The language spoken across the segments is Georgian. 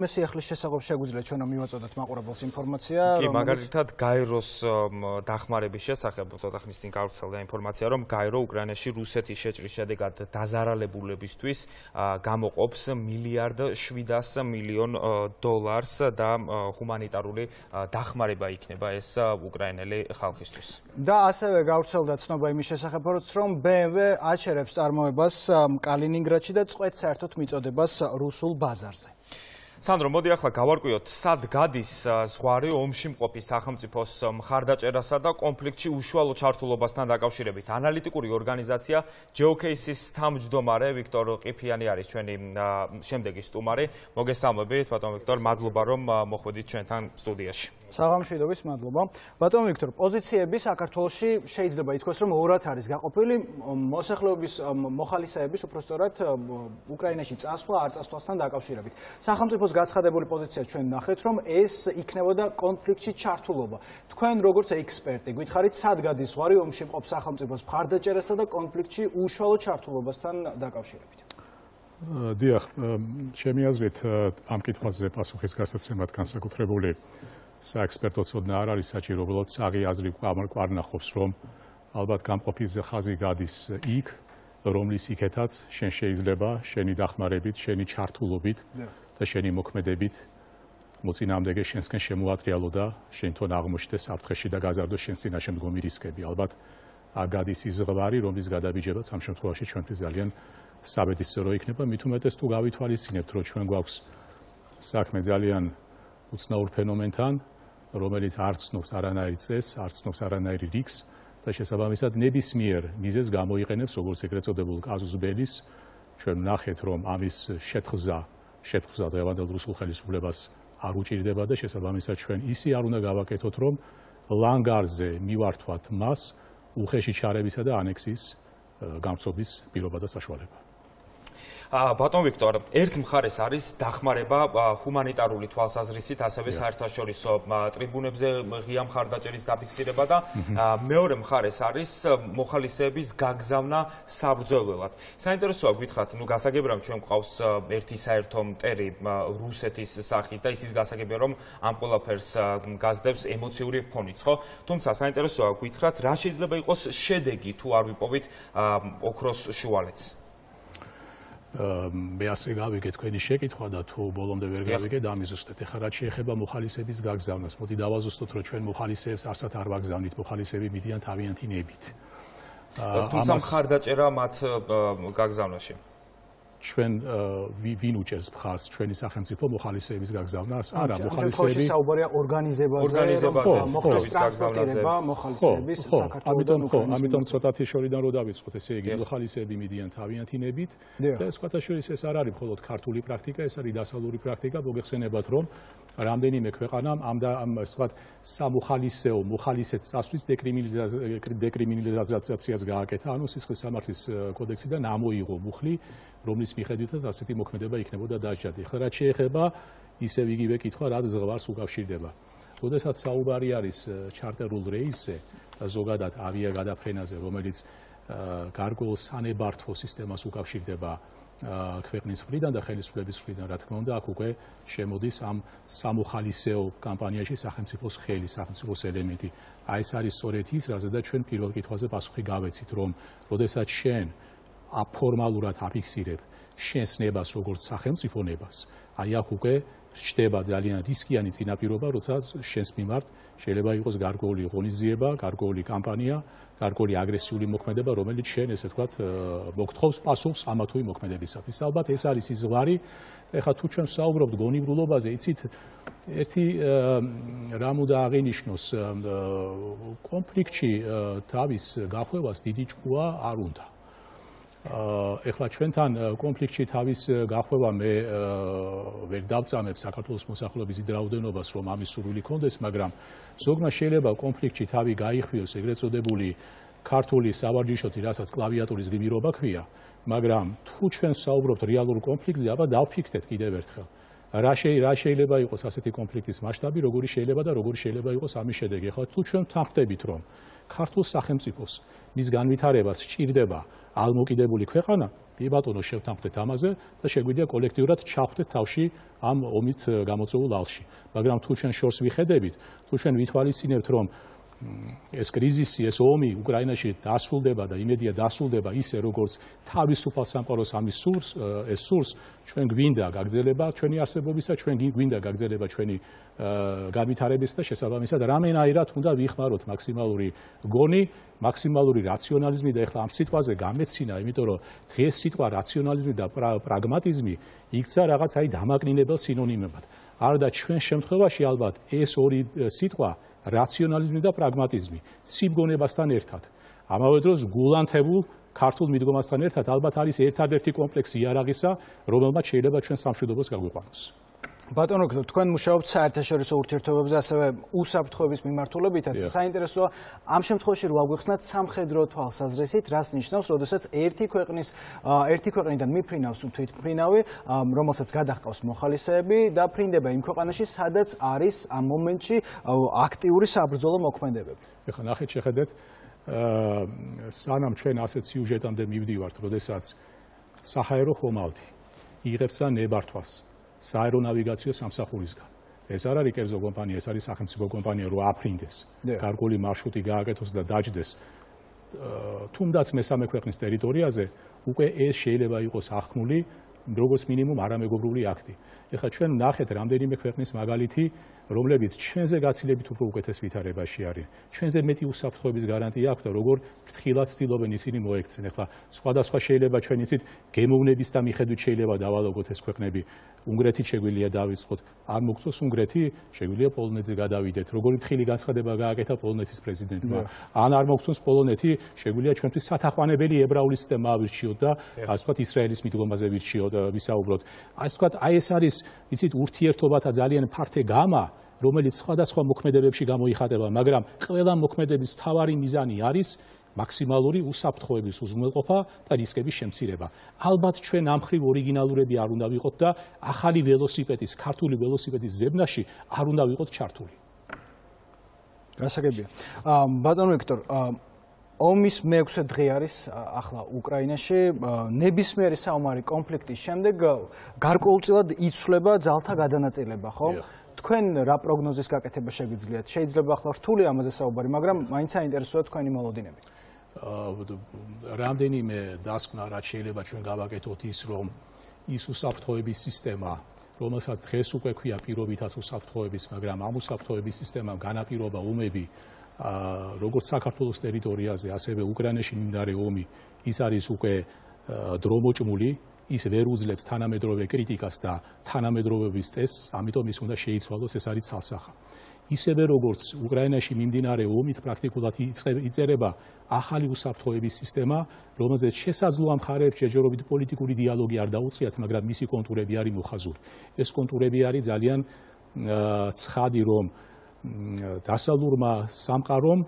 მესიახლის შესაძლებლად შეგვიძლია ჩვენ მივაწოდოთ მაყურებელს ინფორმაცია, კი, მაგალითად გაეროს დახმარების შესახებ ცოტა ხნის წინ გავრცელდა ინფორმაცია, რომ გაერო უკრაინაში რუსეთის შეჭრის შედეგად დაზარალებულებისთვის გამოყოფს $1.7 მილიარდ და ჰუმანიტარული დახმარება იქნება ეს უკრაინელი ხალხისთვის. და ასევე გავრცელდა ცნობა იმის შესახებ, რომ BMW აჩერებს წარმოებას კალინინგრადში და წყვეტს საერთოდ მიწოდებას რუსულ ბაზარზე. სანდრო, მოდი ახლა გავარკვიოთ, სად გადის ზღვარი ომში მყოფი სახელმწიფოს მხარდაჭერასა და კონფლიქტში უშუალო ჩართულობასთან დაკავშირებით. ანალიტიკური ორგანიზაცია GeoCase-ის თავმჯდომარე ვიქტორ ყიფიანი არის ჩვენი შემდეგი სტუმარი. მოგესალმებით, ბატონ ვიქტორ, მადლობა რომ მოხვედით ჩვენთან სტუდიაში. საღამშვიდობის, მადლობა. ბატონ ვიქტორ, პოზიციები საქართველოში შეიძლება ითქვას, რომ ორად არის გაყოფილი, მოსახლეობის მოხალისეების უпростоრად უკრაინაში წასვლა არ წასვლასთან დაკავშირებით. სახელმწიფოს გაცხადებული პოზიცია ჩვენ ნახეთ, რომ ეს იქნებოდა კონფლიქტში ჩართულობა. თქვენ როგორც ექსპერტი, გითხარით, სად გადის ზღვარი ომში მყოფ სახელმწიფოს მხარდაჭერასთან და კონფლიქტში უშუალო ჩართულობასთან დაკავშირებით? დიახ, ჩემი აზრით, ამ კითხვაზე პასუხის გასაცემად განსაკუთრებული საექსპერტო ცოდნა არ არის საჭირო, უბრალოდ საღი აზრი გვარნახობს, რომ ალბათ გამყოფილი ხაზი გადის იქ, რომლის იქეთაც შენ შეიძლება შენი დახმარებით, შენი ჩართულობით და შენი მოქმედებით მოწინააღმდეგე შენსკენ შემოატრიალო და შენ თვითონ აღმოჩნდეს საფრთხეში და გაზარდოს შენს წინაშე მდგომი რისკები. ალბათ გადის ის ზღვარი, რომლის გადაბიჯებაც ამ შემთხვევაში ჩვენთვის ძალიან საბედისწერო იქნება, მით უმეტეს თუ გავითვალისწინებთ, რომ ჩვენ გვაქვს საქმე ძალიან უცნაურ ფენომენთან, რომელიც არ ცნობს არანაირ წესს, არ ცნობს არანაირ რიგს და შესაბამისად ნებისმიერ მიზეზს გამოიყენებს როგორც ეგრეთ წოდებულ კაზუს ბელის. ჩვენ ვნახეთ, რომ ამის შეთხზა დღევანდელ რუსულ ხელისუფლებას არ უჭირდება და შესაბამისად ჩვენ ისე არ უნდა გავაკეთოთ, რომ ლანგარზე მივართვათ მას უხეში ჩარებისა და ანექსიის გამწობის პირობა და საშუალება. ბატონ ვიქტორ, ერთ მხარეს არის დახმარება ჰუმანიტარული თვალსაზრისით, ასევე საერთაშორისო ტრიბუნებზე ღია მხარდაჭერის დაფიქსირება და მეორე მხარეს არის მოხალისეების გაგზავნა საბრძოლველად. საინტერესოა გითხრათ, გასაგებია რომ ჩვენ გვყავს ერთი საერთო მტერი რუსეთის სახით და ისიც გასაგებია რომ ამ ყველაფერს გაზდევს ემოციური ფონიც, ხო? თუმცა საინტერესოა გითხრათ, რა შეიძლება იყოს შედეგი თუ არ ვიპოვით ოქროს შუალედს? მე ასე გავიგე თქვენი შეკითხვა და თუ ბოლომდე ვერ გავიგე დამიზუსტეთ. ეხლა რაც შეეხება მოხალისეების გაგზავნას, მოდი დავაზუსტოთ, რომ ჩვენ მოხალისეებს არსად არ ვაგზავნით, მოხალისეები მიდიან თავიანთი ნებით. თუმცა მხარდაჭერა მათ გაგზავნაში. ჩვენ ვინ უჭერს მხარს ჩვენი სახელმწიფო მოხალისეების გაგზავნას? არა, მოხალისეები საუბარია ორგანიზებაზე, მოხდეს ტრანსპორტირება მოხალისეების საქართველოსთან უკრაინასთან. ამიტომ ცოტათი შორიდან რო დავიწყოთ, ესე იგი მოხალისეები მიდიან თავიანთი ნებით და სხვათა შორის ეს არ არის მხოლოდ ქართული პრაქტიკა, ეს არის დასავლური პრაქტიკა. მოგეხსენებათ, რომ რამდენიმე ქვეყანამ ამ ვთქვათ სამოხალისეო მოხალისეთ წასვლის დეკრიმინალიზაციას გააკეთა, ანუ სისხლის სამართლის კოდექსიდან ამოიღო მუხლი, რომლის მიხედვითაც ასეთი მოქმედება იქნებოდა დასჯადი. ახლა რაც შეეხება ისევ იგივე კითხვა, რაც ზღვარს უკავშირდება. როდესაც საუბარი არის ჩარტერულ რეისზე და ზოგადად ავიაგადაფრენაზე, რომელიც გარკვეულ სანებართვო სისტემას უკავშირდება ქვეყნის მხრიდან და ხელისუფლების მხრიდან, რა თქმა უნდა, აქ უკვე შემოდის ამ სამოხალისეო კამპანიაში სახელმწიფოს ხელი, სახელმწიფოს ელემენტი. აი ეს არის სწორედ ის, რაზედაც ჩვენ პირველ კითხვაზე პასუხი გავეცით, რომ როდესაც შენ ფორმალურად აფიქსირებ შენს ნებას როგორც სახელმწიფო ნებას, აი აქ უკვე ჩდება ძალიან რისკიანი წინაპირობა, როცა შენს მიმართ შეიძლება იყოს გარკვეული ღონისძიება, გარკვეული კამპანია, გარკვეული აგრესიული მოქმედება, რომელიც შენ ესე ვთქვათ მოგთხოვს პასუხს ამა თუ იმ მოქმედებისათვის. ალბათ ეს არის ის ზღვარი. ეხლა თუ ჩვენ საუბრობთ გონივრულობაზე, იცით, ერთი რამ უნდა აღინიშნოს, კონფლიქტში თავის გახვევას დიდი ჭკუა არ უნდა. ეხლა ჩვენთან კონფლიქტში თავის გახვევა მე ვერ დავწამებ საქართველოს მოსახლეობის დიდ რაოდენობას, რომ ამის სურვილი კონდეს, მაგრამ ზოგმა შეიძლება კონფლიქტში თავი გაიხვიოს ეგრეთ წოდებული ქართული სავარჯიშოთი, რასაც კლავიატურის გმირობა ქვია, მაგრამ თუ ჩვენ საუბრობთ რეალურ კონფლიქტზე, აბა დავფიქრდეთ კიდევ ერთხელ. რა შეიძლება იყოს ასეთი კონფლიქტის მასშტაბი, როგორი შეიძლება და როგორი შეიძლება იყოს ამის შედეგი. ახლა თუ ჩვენ ვთანხმდებით, რომ ქართულ სახელმწიფოს მის განვითარებას სჭირდება ალმოკიდებული ქვეყანა, კი ბატონო, შევთანხმდეთ ამაზე და შეგვიძლია კოლექტიურად ჩავხვდეთ თავში ამ ომით გამოწვეულ ალში. მაგრამ თუ ჩვენ შორს ვიხედებით, თუ ჩვენ ვითვალისწინებთ, რომ ეს კრიზისი, ეს ომი უკრაინაში დასრულდება და იმედია დასრულდება ისე, როგორც თავისუფალ სამყაროს ამის სურს, ჩვენ გვინდა გაგრძელება ჩვენი არსებობისა, ჩვენ გვინდა გაგრძელება ჩვენი განვითარების და შესაბამისად რამენაირად უნდა ვიხმაროთ მაქსიმალური გონი, მაქსიმალური რაციონალიზმი და ეხლა ამ სიტყვაზე გამეცინა, იმიტომ რომ დღეს სიტყვა რაციონალიზმი და პრაგმატიზმი იქცა რაღაც დამაკნინებელ სინონიმებად. არადა ჩვენ შემთხვევაში ალბათ ეს ორი სიტყვა რაციონალიზმი და პრაგმატიზმი სიმგონებასთან ერთად. ამავე დროს გულანთებულ ქართულ მიდგომასთან ერთად ალბათ არის ერთადერთი კომპლექსი იარაღისა, რომელმაც შეიძლება ჩვენ სამშვიდობოს გაგვიყვანოს. ბატონო, თქვენ მუშაობთ საერთაშორისო ურთიერთობებზე, ასევე უსაფრთხოების მიმართულებითაც. საინტერესოა ამ შემთხვევაში რო აგვიხსნათ სამხედრო თვალსაზრისით, რას ნიშნავს, როდესაც ერთი ქვეყნიდან მიფრინავს თვითმფრინავი, რომელსაც გადაჰყავს მოხალისეები და ფრინდება იმ ქვეყანაში, სადაც არის ამ მომენტში აქტიური საბრძოლო მოქმედებები. ეხლა ნახეთ, შეხედეთ, სანამ ჩვენ ასეთ სიუჟეტამდე მივდივართ, როდესაც საჰაერო ხომალდი იღებს რა ნებართვას სააერონავიგაციო სამსახურისგან. ეს არ არის კერძო კომპანია, ეს არის სახელმწიფო კომპანია, რო აფრინდეს, გარკვეული მარშრუტი გააკეთოს და დაჯდეს. თუნდაც მესამე ქვეყნის ტერიტორიაზე უკვე ეს შეიძლება იყოს ახმული, როგორც მინიმუმ არამეგობრული აქტი. ეხლა ჩვენ ნახეთ რამდენიმე ქვეყნის მაგალითი, რომლებიც ჩვენზე გაცილებით უფრო უკეთეს ვითარებაში არის. ჩვენზე მეტი უსაფრთხოების გარანტია აქვს და როგორ ფრთხილად ცდილობენ ისინი მოექცენ. ეხლა სხვადასხვა შეიძლება ჩვენ იცით გემოვნების და მიხედვით შეიძლება დავალაგოთ ეს ქვეყნები. უნგრეთით შეგვიძლია დავიწყოთ, არ მოგწოს უნგრეთი, შეგვიძლია პოლონეთზე გადავიდეთ. როგორი თხილი განცხადება გააკეთა პოლონეთის პრეზიდენტმა. ან არ მოგწონს პოლონეთი, შეგვიძლია ჩვენთვის სათაყვანებელი ებრაული სისტემა ავირჩიოთ და ასე ვთქვათ ისრაელის მიდგომაზე ვირჩიოთ, ვისაუბროთ. ასე ვთქვათ, ეს არის, იცით, ურთიერთობათა ძალიან ფართე გამა, რომელიც სხვადასხვა მოქმედებებში გამოიხატება, მაგრამ ყველა მოქმედების მთავარი მიზანი არის მაქსიმალური უსაფრთხოების უზრუნველყოფა და რისკების შემცირება. ალბათ ჩვენ ამ მხრივ ორიგინალურები არ უნდა ვიყოთ და ახალი ველოსიპედის, ქართული ველოსიპედის ზებნაში არ უნდა ვიყოთ ჩართული. გასაგებია. ბატონო ვიქტორ, ომის მე-6 დღე არის ახლა უკრაინაში. ნებისმიერი საომარი კონფლიქტის შემდეგ გარკვეულწილად იცვლება ძალთა გადანაწილება, ხო? თქვენ რა პროგნოზის გაკეთება შეგვიძლიათ? შეიძლება ახლა რთული ამაზე საუბარი, მაგრამ მაინც საინტერესოა თქვენი მოლოდინები. რამდენიმე დასკვნა რაც შეიძლება ჩვენ გავაკეთოთ ის, რომ ის უსაფრთხოების სისტემა, რომელსაც დღეს უკვე ქვია პირობითაც უსაფრთხოების, მაგრამ ამ უსაფრთხოების სისტემამ განაპირობა ომები, როგორც საქართველოს ტერიტორიაზე, ასევე უკრაინაში მიმდინარე ომი, ის არის უკვე დრომოჭმული, ის ვერ უძლებს თანამედროვე კრიტიკას და თანამედროვეობის ტესტს, ამიტომ ის უნდა შეიცვალოს, ეს არის ცალსახა. ისევე როგორც უკრაინაში მიმდინარე ომით პრაქტიკულად იწერება ახალი უსაფრთხოების სისტემა, რომელზეც შესაძლოა მხარეებს შეჯერობით პოლიტიკური დიალოგი არ დაუწყიათ, მაგრამ მისი კონტურები არის მოხაზული. ეს კონტურები არის ძალიან ცხადი, რომ დასავლურმა სამყარომ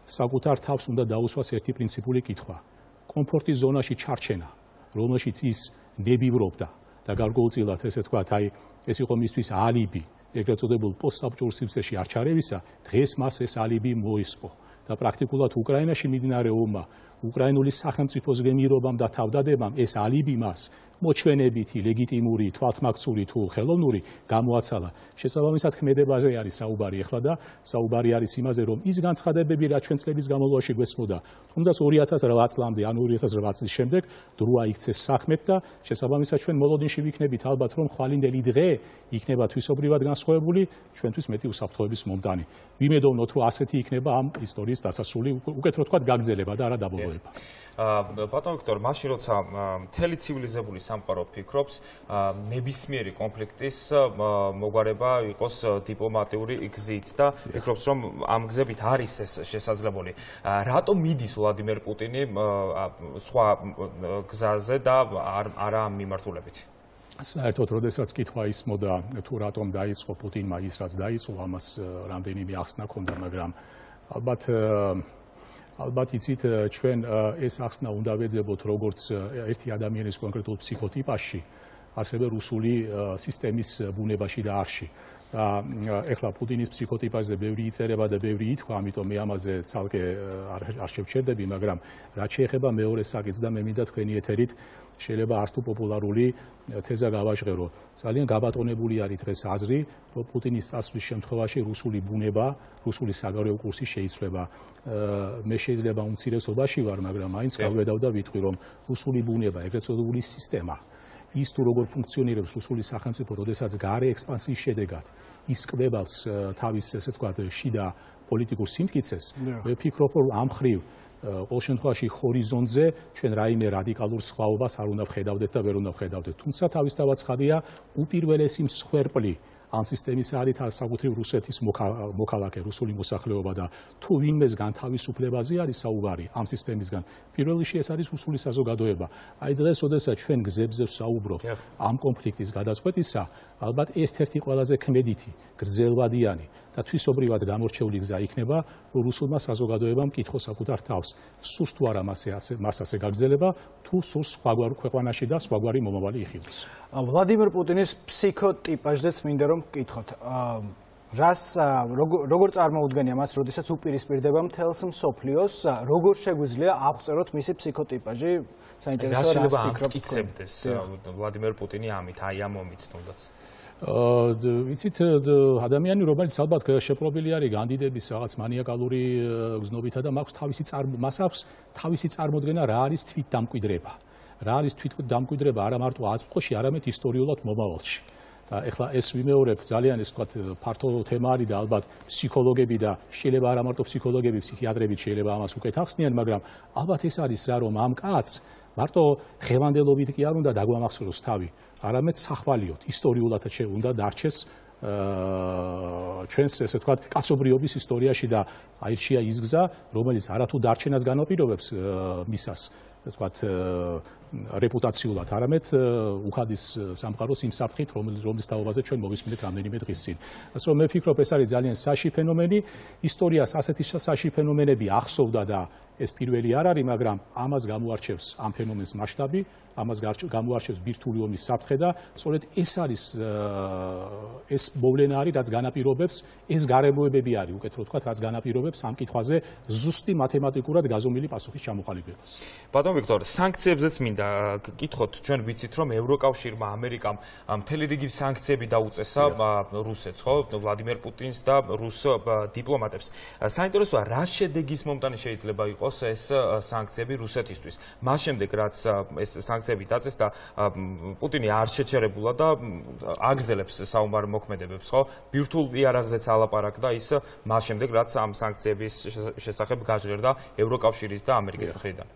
საკუთარ თავს უნდა დაუსვას ერთი პრინციპული კითხვა. კომფორტის ზონაში ჩარჩენა, რომელშიც ის ნებივრობდა და გარკვეულწილად ესე თქვათ, ეს იყო მისთვის ალიბი, ეგრეთ წოდებულ პოსტსაბჭოურ სივრცეში არ ჩარევისა, დღეს მას ეს ალიბი მოისპო და პრაქტიკულად უკრაინაში მიმდინარე ომმა, უკრაინული სახელმწიფოს გემირობამ და თავდადებამ ეს ალიბი მას მოჩვენებითი, ლეგიტიმური, თვალთმაქცური თუ ხელოვნური გამოაცალა. შესაბამისად ქმედებაზე არის საუბარი ახლა და საუბარი არის იმაზე, რომ ის განცხადებები, რაც ჩვენ წლების განმავლობაში გვესმოდა, თუმცა 2008 წლამდე ან 2008 წლის შემდეგ დროა იქცეს საქმეთ და შესაბამისად ჩვენ მოლოდინში ვიქნებით ალბათ, რომ ხვალინდელი დღე იქნება თვისობრივად განსხვავებული, ჩვენთვის მეტი უსაფრთხოების მომდანი. ვიმედოვნოთ, რომ ასეთი იქნება ამ ისტორიის დასასრული, უკეთ რო თქვათ, გაგრძელება და არა დაბოლოება. ბატონ ვიქტორ, მაშინ როცა მთელი ცივილიზებული სამყარო ფიქრობს, ნებისმიერი კონფლიქტის მოგვარება იყოს დიპლომატიური გზით და ფიქრობს, რომ ამ გზებით არის ეს შესაძლებელი. რატომ მიდის ვლადიმერ პუტინი სხვა გზაზე და არა ამ მიმართულებით? საერთოდ, როდესაც კითხვა ისმოდა, თუ რატომ დაიწყო პუტინმა ის, რაც დაიწყო, ამას რამდენიმე ახსნა ჰქონდა, მაგრამ ალბათ იცით, ჩვენ ეს ახსნა უნდა ვეძებოთ როგორც ერთი ადამიანის კონკრეტულ ფსიქოტიპაში, ასევე რუსული სისტემის ბუნებაში და არში. ეხლა პუტინის ფსიქოტიპაზე ბევრი იწერება და ბევრი ითქვა, ამიტომ მე ამაზე ცალკე არ შევჩერდები, მაგრამ რაც შეეხება მეორე საკითხს და მე მინდა თქვენი ეთერით შეიძლება არც თუ პოპულარული თეზა გავაჟღერო. ძალიან გაბატონებული არის დღეს აზრი, რომ პუტინის წასვლის შემთხვევაში რუსული ბუნება, რუსული საგარეო კურსი შეიცვლება. მე შეიძლება უმცირესობაში ვარ, მაგრამ მაინც გავედავ და ვიტყვი, რომ რუსული ბუნება, ეგრეთ წოდებული სისტემა ის თუ როგორ ფუნქციონირებს რუსული სახელმწიფო, როდესაც გარე ექსპანსიის შედეგად ის კვებავს თავის, ესე ვთქვათ, შიდა პოლიტიკურ სიმტკიცეს, მე ვფიქრობ, რომ ამ მხრივ ყოველ შემთხვევაში ჰორიზონტზე ჩვენ რაიმე რადიკალურ სხვაობას არ უნდა ვხედავდეთ და ვერ უნდა ვხედავდეთ. თუმცა თავისთავად ცხადია, უპირველესი მსხვერპლი ამ სისტემის არის საკუთრივ რუსეთის მოქალაქე, რუსული მოსახლეობა და თუ ვინმესგან თავისუფლებაზე არის საუბარი ამ სისტემისგან, პირველ რიგში ეს არის რუსული საზოგადოება. აი დღეს, როდესაც ჩვენ გზებზე ვსაუბრობთ ამ კონფლიქტის გადაწყვეტისა, ალბათ ერთ-ერთი ყველაზე ქმედითი, გრძელვადიანი და თვისობრივად გამორჩეული გზა იქნება, რომ რუსულმა საზოგადოებამ კითხოს საკუთარ თავს, სურს თუ არა მას ასე გაგრძელება, თუ სურს სხვაგვარ ქვეყანაში და სხვაგვარი მომავალი იხილოს. ვლადიმერ პუტინის ფსიქოტიპაჟზეც მინდა რომ გკითხოთ. როგორ წარმოუდგენია მას, როდესაც უპირისპირდება მთელს მსოფლიოს, როგორ შეგვიძლია აღწეროთ მისი ფსიქოტიპაჟი? საინტერესოა რას ფიქრობთ? გიცემდეს ვლადიმერ პუტინი ამით, აი ამ მომით თუნდაც. ვიცით, ადამიანი, რომელიც ალბათ შეპყრობილი არის განდიდების რაღაც მანიაკალური გზნობითა და მას აქვს თავისი წარმოდგენა, რა არის თვითდამკვიდრება. რა არის თვითდამკვიდრება არა მარტო აწმყოში, არამედ ისტორიულად მომავალში. და ეხლა ეს ვიმეორებ ძალიან ეს ვთქვათ ფართო თემა არის და ალბათ ფსიქოლოგები და შეიძლება არა მარტო ფსიქოლოგები, ფსიქიატრები შეიძლება ამას უკეთ ახსნიან, მაგრამ ალბათ ეს არის რა, რომ ამ კაცს მარტო ღევანდელობით კი არ უნდა დაგვამახსოვროს თავი, არამედ სახვალიოთ, ისტორიულადაც უნდა დარჩეს ჩვენს ესე ვთქვათ კაცობრიობის ისტორიაში და აირჩია ის გზა, რომელიც არათუ დარჩენას განაპირობებს მისას ეს ვთქვათ რეპუტაციულად, არამედ უხადის სამყაროს იმ საფრთხით, რომლის თაობაზე ჩვენ მოვისმინეთ რამდენიმე დღის წინ. ასე რომ მე ვფიქრობ, ეს არის ძალიან საში ფენომენი, ისტორიას ასეთი საში ფენომენები ახსოვდა და ეს პირველი არ არის, მაგრამ ამას გამოარჩევს ამ ფენომენს მასშტაბი, ამას გამოარჩევს ბირთვული ომის საფრთხე და სწორედ ეს არის ეს მოვლენა არის, რაც განაპირობებს, ეს გარემოებები არის, უკეთ რო ვთქვათ, რაც განაპირობებს ამ კითხვაზე ზუსტი მათემატიკურად გაზომილი პასუხის ჩამოყალიბებას. ბატონ ვიქტორ, სანქციებზეც მინდა გკითხოთ, ჩვენ ვიცით, რომ ევროკავშირმა, ამერიკამ მთელი რიგი სანქციები დაუწესა რუსეთს, ხო, ვლადიმერ პუტინს და რუს დიპლომატებს. საინტერესოა, რა შედეგის მომტანი შეიძლება იყოს ეს სანქციები რუსეთისთვის. მას შემდეგ, რაც ეს სანქციები დაწეს და პუტინი არ შეჩერებულა და აგრძელებს საომარ მოქმედებებს, ხო? ბირთვულ იარაღზეც ალაპარაკდა ის მას შემდეგ, რაც ამ სანქციების შესახებ გაჟღერდა ევროკავშირის და ამერიკის მხრიდან.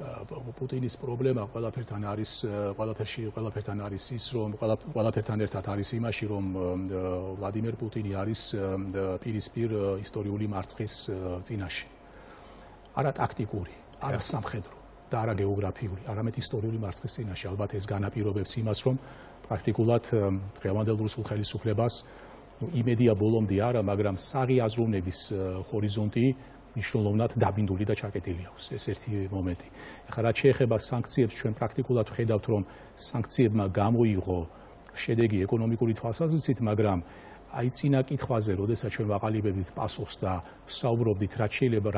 პუტინის პრობლემა ყველაფერთან არის ის, რომ ყველაფერთან ერთად არის იმაში, რომ ვლადიმერ პუტინი არის პირისპირ ისტორიული მარცხის წინაშე. არა ტაქტიკური, არა სამხედრო და არა გეოგრაფიული, არამედ ისტორიული მარცხის წინაშე. ალბათ ეს განაპირობებს იმას, რომ პრაქტიკულად დღევანდელ რუსულ ხელისუფლებას იმედია ბოლომდე არა, მაგრამ საღი აზროვნების ჰორიზონტი მნიშვნელოვნად დაბინდული და ჩაკეტილი აქვს. ეს ერთი მომენტი. ეხლა რაც შეეხება სანქციებს, ჩვენ პრაქტიკულად ვხედავთ, რომ სანქციებმა გამოიღო შედეგი ეკონომიკური თვალსაზრისით, მაგრამ აი წინა კითხვაზე, როდესაც ჩვენ ვაყალიბებდით პასუხს და ვსაუბრობდით, რა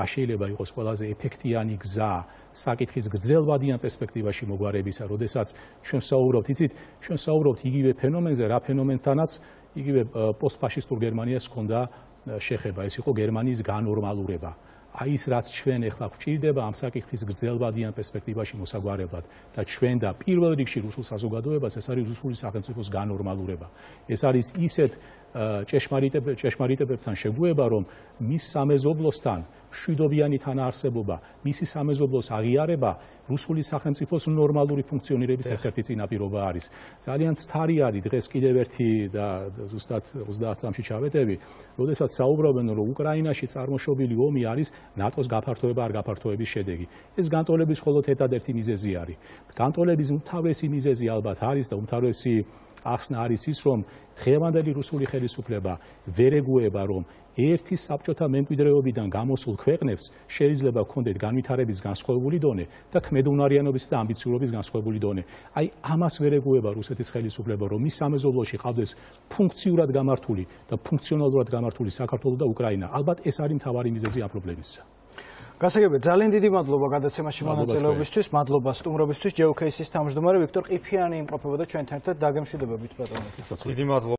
შეიძლება იყოს ყველაზე ეფექტიანი გზა საკითხის გრძელვადიან პერსპექტივაში მოგვარებისა, როდესაც ჩვენ ვსაუბრობთ, იცით, ჩვენ ვსაუბრობთ იგივე ფენომენზე, რა ფენომენთანაც იგივე პოსტფაშისტურ გერმანიას ჰქონდა შეხება, ეს იყო გერმანიის განორმალურება. აი ის რაც ჩვენ ახლა გვჭირდება ამ საკითხის გრძელვადიან პერსპექტივაში მოსაგვარებლად და ჩვენ და პირველ რიგში რუსულ საზოგადოებას, ეს არის რუსული სახელმწიფოს განორმალურება. ეს არის ისეთ ჭეშმარიტებებთან შეგუება, რომ მის სამეზობლოსთან მშვიდობიანი თანაარსებობა, მისი სამეზობლოს აღიარება რუსული სახელმწიფოს ნორმალური ფუნქციონირების ერთ-ერთი წინაპირობა არის. ძალიან ცთარი არის დღეს კიდევ ერთი და ზუსტად 30 წამში ჩავეტევი, როდესაც საუბრობენ, რომ უკრაინაში წარმოშობილი ომი არის ნატოს გაფართოება არ გაფართოების შედეგი. ეს განტოლების მხოლოდ ერთადერთი მიზეზი არის. განტოლების უმთავრესი მიზეზი ალბათ არის და უმთავრესი ახსნა არის ის, რომ დღევანდელი რუსული ხელისუფლება ვერ ეგუება, რომ ერთი საბჭოთა მემკვიდრეობიდან გამოსულ ქვეყნებს შეიძლება ჰქონდეთ განვითარების განსხვავებული დონე და ქმედუნარიანობის და ამბიციურობის განსხვავებული დონე. აი ამას ვერ ეგუება რუსეთის ხელისუფლება, რომ მის სამეზობლოში ყავდეს ფუნქციურად გამართული და ფუნქციონალურად გამართული საქართველო და უკრაინა. ალბათ ეს არის მთავარი მიზეზი ამ პრობლემისა. გასაგებია, ძალიან დიდი მადლობა გადაცემაში მონაწილეობისთვის, მადლობა სტუმრობისთვის. ჯეოქეისის თავმჯდომარე ვიქტორ ყიფიანი იმყოფებოდა ჩვენთან ერთად, დაგემშვიდობებით ბატონო. დიდი მადლობა.